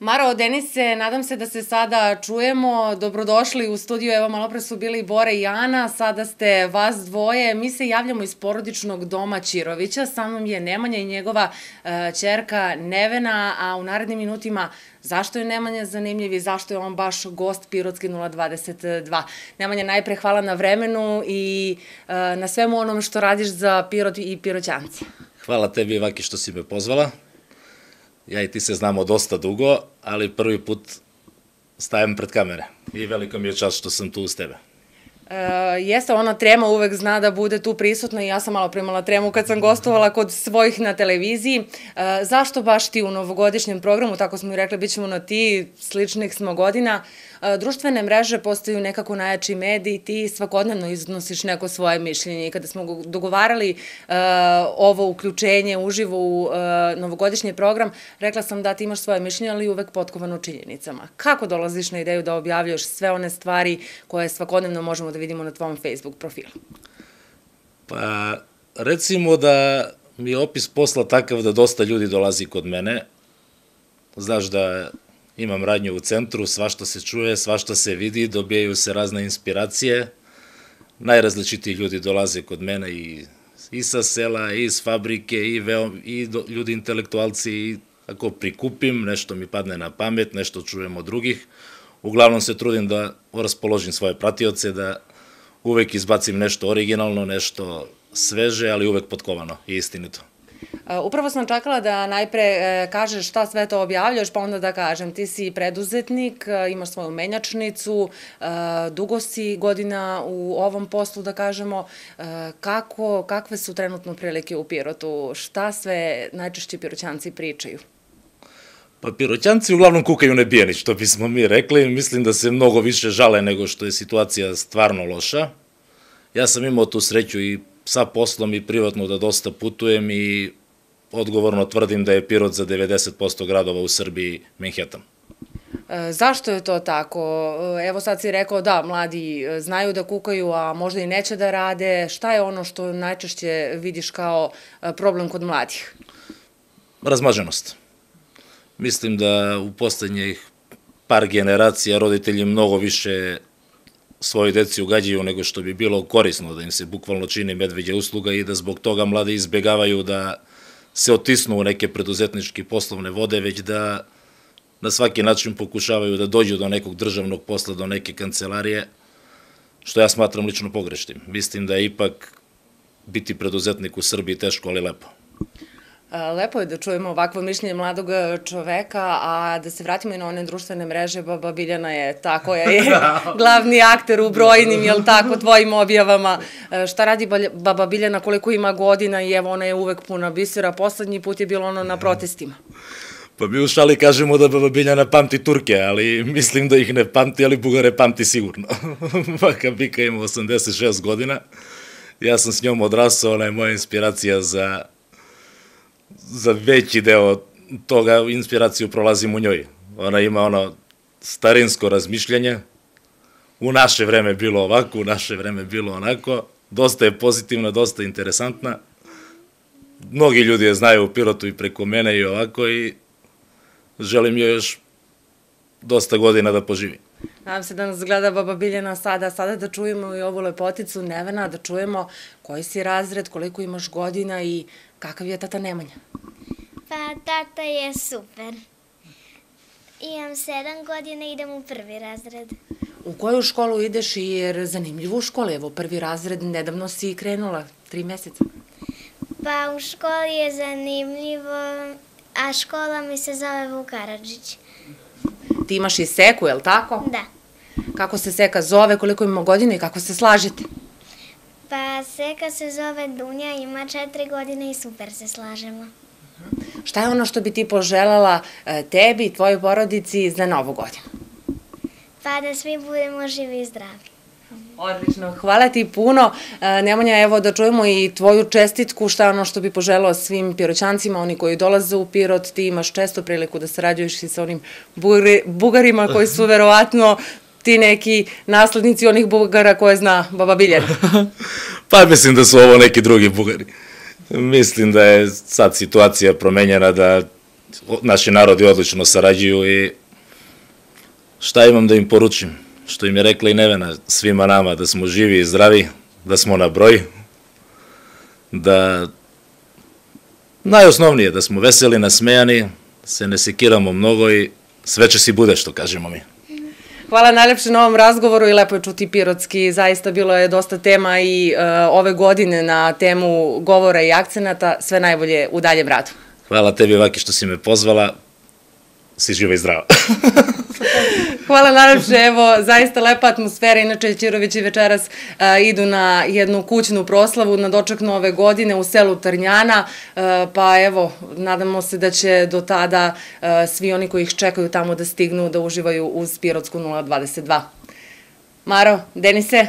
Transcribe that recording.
Maro, Denise, nadam se da se sada čujemo. Dobrodošli u studiju. Evo, malo pre su bili Bore i Ana, sada ste vas dvoje. Mi se javljamo iz porodičnog doma Ćirovića. Sa mnom je Nemanja i njegova ćerka Nevena, a u narednim minutima zašto je Nemanja zanimljiv i zašto je on baš gost Pirotski 022. Nemanja, najpre hvala na vremenu i na svemu onom što radiš za Pirot i Piroćanci. Hvala tebi, Vaki, što si me pozvala. Ja i ti se znamo dosta dugo, ali prvi put stajem pred kamere i veliko mi je čast što sam tu uz tebe. Jeste, ona trema uvek zna da bude tu prisutna i ja sam malo primala tremu kad sam gostovala kod svojih na televiziji. Zašto baš ti u novogodišnjem programu, tako smo i rekli, bit ćemo na ti, sličnih smo godina. Društvene mreže postaju nekako najjači mediji, ti svakodnevno iznosiš neko svoje mišljenje i kada smo dogovarali ovo uključenje uživo u novogodišnji program, rekla sam da ti imaš svoje mišljenje, ali uvek potkovano činjenicama. Kako dolaziš na ideju da objavljuješ sve one stvari koje svakodnevno možemo da vidimo na tvom Facebook profilu? Pa, recimo da mi je opis posla takav da dosta ljudi dolazi kod mene. Znaš da imam radnju u centru, svašta se čuje, svašta se vidi, dobijaju se razne inspiracije. Najrazličitiji ljudi dolaze kod mene i sa sela, i iz fabrike, i ljudi intelektualci. I ako prikupim, nešto mi padne na pamet, nešto čujem od drugih. Uglavnom se trudim da raspoložim svoje pratioce, da uvek izbacim nešto originalno, nešto sveže, ali uvek potkovano i istinito. Upravo sam čekala da najpre kažeš šta sve to objavljaš, pa onda da kažem, ti si preduzetnik, imaš svoju menjačnicu, dugo si godina u ovom poslu, da kažemo. Kakve su trenutno prilike u Pirotu? Šta sve najčešće Piroćanci pričaju? Pa Piroćanci uglavnom kukaju nebijeni, što bismo mi rekli. Mislim da se mnogo više žale nego što je situacija stvarno loša. Ja sam imao tu sreću i sa poslom i privatno da dosta putujem i odgovorno tvrdim da je Pirot za 90% gradova u Srbiji Manhattan. Zašto je to tako? Evo sad si rekao da, mladi znaju da kukaju, a možda i neće da rade. Šta je ono što najčešće vidiš kao problem kod mladih? Razmaženost. Mislim da u poslednjih par generacija roditelji mnogo više svoje deci ugađaju nego što bi bilo korisno, da im se bukvalno čini medveđa usluga i da zbog toga mladi izbegavaju da se otisnu u neke preduzetničke poslovne vode, već da na svaki način pokušavaju da dođu do nekog državnog posla, do neke kancelarije, što ja smatram lično pogrešnim. Mislim da je ipak biti preduzetnik u Srbiji teško, ali lepo. Lepo je da čujemo ovakvo mišljenje mladog čoveka, a da se vratimo i na one društvene mreže, Baba Biljana je ta koja je glavni akter u brojnim, jel tako, tvojim objavama. Šta radi Baba Biljana, koliko ima godina i evo ona je uvek puna bisera, poslednji put je bilo ono na protestima. Pa mi u šali kažemo da Baba Biljana pamti Turke, ali mislim da ih ne pamti, ali Bugare pamti sigurno. Baka Bika ima 86 godina, ja sam s njom odrasao, ona je moja inspiracija za veći deo toga, inspiraciju prolazim u njoj. Ona ima ono starinsko razmišljanje, u naše vreme bilo ovako, u naše vreme bilo onako, dosta je pozitivna, dosta interesantna. Mnogi ljudi je znaju u Pirotu i preko mene i ovako i želim joj još dosta godina da poživi. Nadam se da nas gleda Baba Biljana sada da čujemo i ovu lepoticu Nevena, da čujemo koji si razred, koliko imaš godina i kakav je tata Nemanja. Pa tata je super. Imam 7 godina i idem u prvi razred. U koju školu ideš jer zanimljivo u školi? Evo, prvi razred, nedavno si krenula, 3 meseca. Pa u školi je zanimljivo, a škola mi se zove Vuk Karadžić. Ti imaš i seku, je li tako? Da. Kako se seka zove, koliko ima godina i kako se slažete? Pa seka se zove Dunja, ima 4 godine i super se slažemo. Šta je ono što bi ti poželjela tebi i tvojoj porodici za novu godinu? Pa da svi budemo živi i zdravi. Odlično, hvala ti puno. Nemanja, evo da čujemo i tvoju čestitku, šta je ono što bi poželao svim Piroćancima, oni koji dolaze u Pirot, ti imaš često priliku da sarađuješ i sa onim Bugarima koji su verovatno ti neki naslednici onih Bugara koje zna Baba Biljana. Pa mislim da su ovo neki drugi Bugari. Mislim da je sad situacija promenjena, da naši narodi odlično sarađuju i šta imam da im poručim? Što im je rekla i Nevena svima nama, da smo živi i zdravi, da smo na broj, da najosnovnije, da smo veseli, nasmejani, se ne sekiramo mnogo i sve će si bude, što kažemo mi. Hvala najlepše na ovom razgovoru i lepo je čuti pirotski. Zaista bilo je dosta tema i ove godine na temu govora i akcenata. Sve najbolje u daljem radu. Hvala tebi, Vaki, što si me pozvala. Si živa i zdrava. Hvala najlepše, evo, zaista lepa atmosfera, inače Ćirovići večeras idu na jednu kućnu proslavu na doček Nove godine u selu Trnjana, pa evo, nadamo se da će do tada svi oni koji ih čekaju tamo da stignu, da uživaju uz Pirotsku 022. Maro, Denise?